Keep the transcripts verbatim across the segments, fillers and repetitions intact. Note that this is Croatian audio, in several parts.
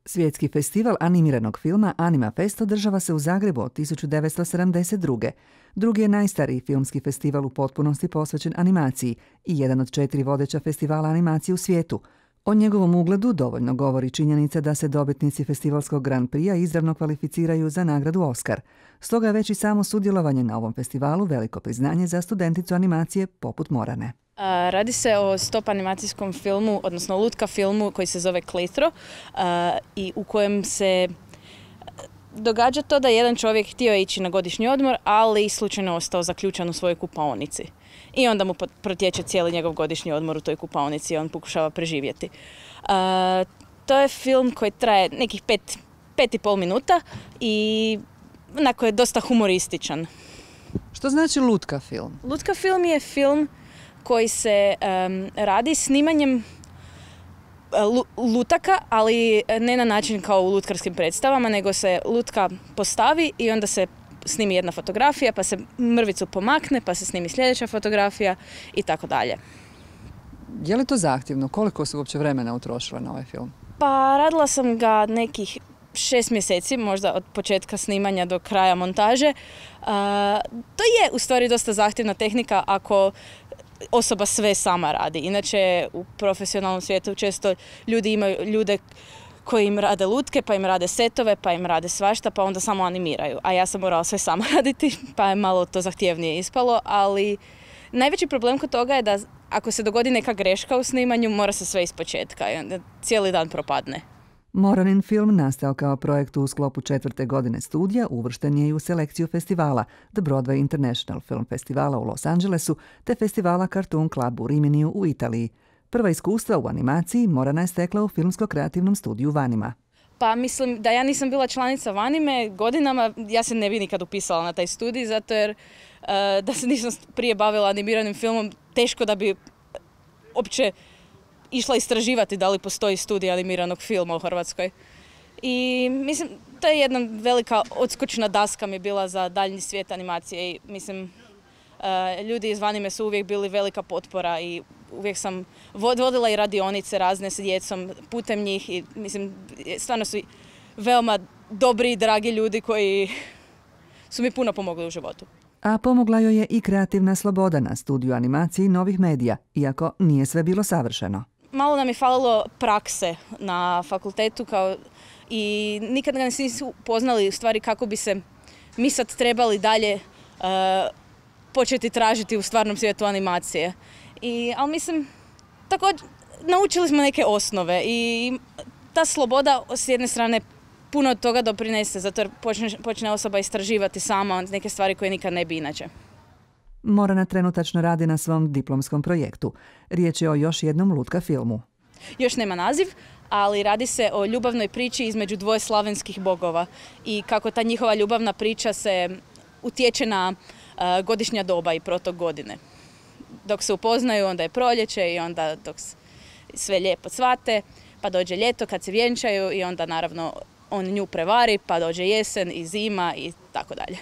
Svjetski festival animiranog filma Anima Fest održava se u Zagrebu od tisuću devetsto sedamdeset druge. Drugi je najstariji filmski festival u potpunosti posvećen animaciji i jedan od četiri vodeća festivala animacije u svijetu. O njegovom ugledu dovoljno govori činjenica da se dobitnici festivalskog Grand Prix-a izravno kvalificiraju za nagradu Oscar. Stoga je već i samo sudjelovanje na ovom festivalu veliko priznanje za studenticu animacije poput Morane. A, radi se o stop animacijskom filmu, odnosno lutka filmu koji se zove Kletro a, i u kojem se događa to da jedan čovjek htio ići na godišnji odmor, ali slučajno ostao zaključan u svojoj kupaonici. I onda mu protječe cijeli njegov godišnji odmor u toj kupaonici i on pokušava preživjeti. A, to je film koji traje nekih pet, pet i pol minuta i onako je dosta humorističan. Što znači lutka film? Lutka film je film koji se um, radi snimanjem lutaka, ali ne na način kao u lutkarskim predstavama, nego se lutka postavi i onda se snimi jedna fotografija, pa se mrvicu pomakne, pa se snimi sljedeća fotografija i tako dalje. Je li to zahtjevno? Koliko su uopće vremena utrošile na ovaj film? Pa radila sam ga nekih šest mjeseci, možda od početka snimanja do kraja montaže. Uh, to je u stvari dosta zahtjevna tehnika ako osoba sve sama radi. Inače, u profesionalnom svijetu često ljudi imaju ljude koji im rade lutke, pa im rade setove, pa im rade svašta, pa onda samo animiraju. A ja sam morala sve sama raditi, pa je malo to zahtjevnije ispalo, ali najveći problem kod toga je da ako se dogodi neka greška u snimanju, mora se sve ispočetka i onda cijeli dan propadne. Moranin film nastao kao projekt u sklopu četvrte godine studija, uvršten je i u selekciju festivala The Broadway International Film Festivala u Los Angelesu te festivala Cartoon Club u Riminiju u Italiji. Prva iskustva u animaciji Morana je stekla u filmsko-kreativnom studiju Vanima. Pa mislim da ja nisam bila članica Vanime godinama, ja se ne bi nikad upisala na taj studij, zato jer uh, da se nisam prije bavila animiranim filmom, teško da bi uopće išla istraživati da li postoji studij animiranog filma u Hrvatskoj. I mislim, to je jedna velika odskočna daska mi bila za daljnji svijet animacije i mislim, uh, ljudi iz Vanime su uvijek bili velika potpora i uvijek sam vodila i radionice razne s djecom putem njih i mislim, stvarno su veoma dobri i dragi ljudi koji su mi puno pomogli u životu. A pomogla joj je i kreativna sloboda na studiju animaciji novih medija, iako nije sve bilo savršeno. Malo nam je falilo prakse na fakultetu kao i nikad ga nisu poznali u stvari kako bi se mi sad trebali dalje uh, početi tražiti u stvarnom svijetu animacije. I, ali mislim, također naučili smo neke osnove i ta sloboda s jedne strane puno od toga doprinese, zato jer počne, počne osoba istraživati sama neke stvari koje nikad ne bi inače. Morana trenutačno radi na svom diplomskom projektu. Riječ je o još jednom lutka filmu. Još nema naziv, ali radi se o ljubavnoj priči između dvoje slavenskih bogova i kako ta njihova ljubavna priča se utječe na uh, godišnja doba i protok godine. Dok se upoznaju, onda je proljeće i onda dok sve lijepo cvate, pa dođe ljeto kad se vjenčaju i onda naravno on nju prevari, pa dođe jesen i zima i tako dalje.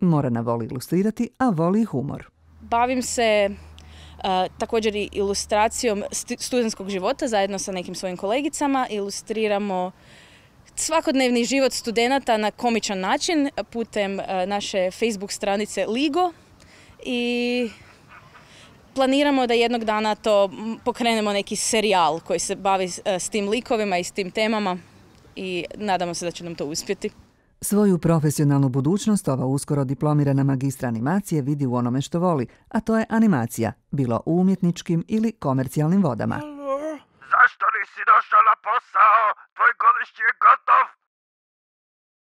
Morana voli ilustrirati, a voli i humor. Bavim se uh, također i ilustracijom st- studentskog života zajedno sa nekim svojim kolegicama. Ilustriramo svakodnevni život studenata na komičan način putem uh, naše Facebook stranice Ligo i planiramo da jednog dana to pokrenemo neki serijal koji se bavi uh, s tim likovima i s tim temama i nadamo se da će nam to uspjeti. Svoju profesionalnu budućnost ova uskoro diplomirana magistra animacije vidi u onome što voli, a to je animacija, bilo u umjetničkim ili komercijalnim vodama. Zašto nisi došao na posao? Tvoj godišnji je gotov.